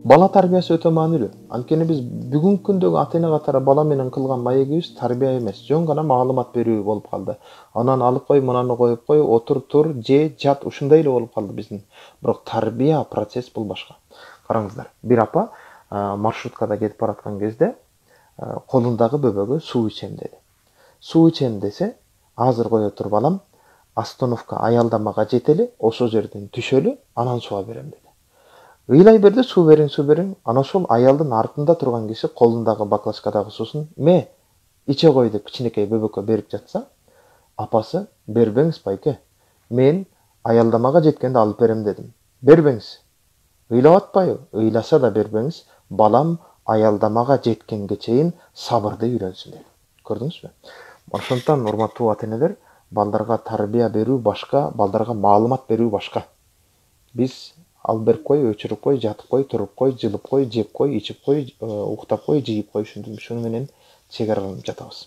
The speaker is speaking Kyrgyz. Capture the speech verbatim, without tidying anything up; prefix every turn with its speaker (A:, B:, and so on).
A: Бала тарбиясы өтө маанилүү. Анткени биз бүгүнкү күндөгү ата эне катары бала менен кылган маегибиз тарбия эмес, жөн гана маалымат берүү болуп калды. Анан алып кой, мынаны коюп кой, отур, тур, же, жат, ушундай эле болуп калды биздин. Бирок тарбия процесс бул башка. Караңыздар, бир апа маршруткада кетип бараткан кезде колундагы бөбөгө суу ичем деди. Суу ичем десе, азыр кое тур балам, остановка аялдамага жетели, ошол жерден түшөлү, анан сууга берем деди. Ыйлай берди, суу бериң, суу бериң. Анан ошол аялдын артында турган киши колундагы баклажкадагы суусун ме иче кой деп кичинекей бөбөккө берип жатса, апасы бербеңиз байке. Мен аялдамага жеткенде алып берем дедим. Бербеңиз. Ыйлап атпайбы? Ыйласа да бербеңиз. Балам аялдамага жеткенге чейин сабырды үйрөнсүн деди. Көрдүңүзбү? Ошондуктан урматтуу ата энелер, балдарга тарбия берүү башка, балдарга маалымат берүү башка. Биз алып берип кой, өчүрүп кой, жатып кой, туруп кой, жылып кой, жеп кой, ичип кой, уктап кой, жыйып кой, ушуну менен чек араланып жатабыз.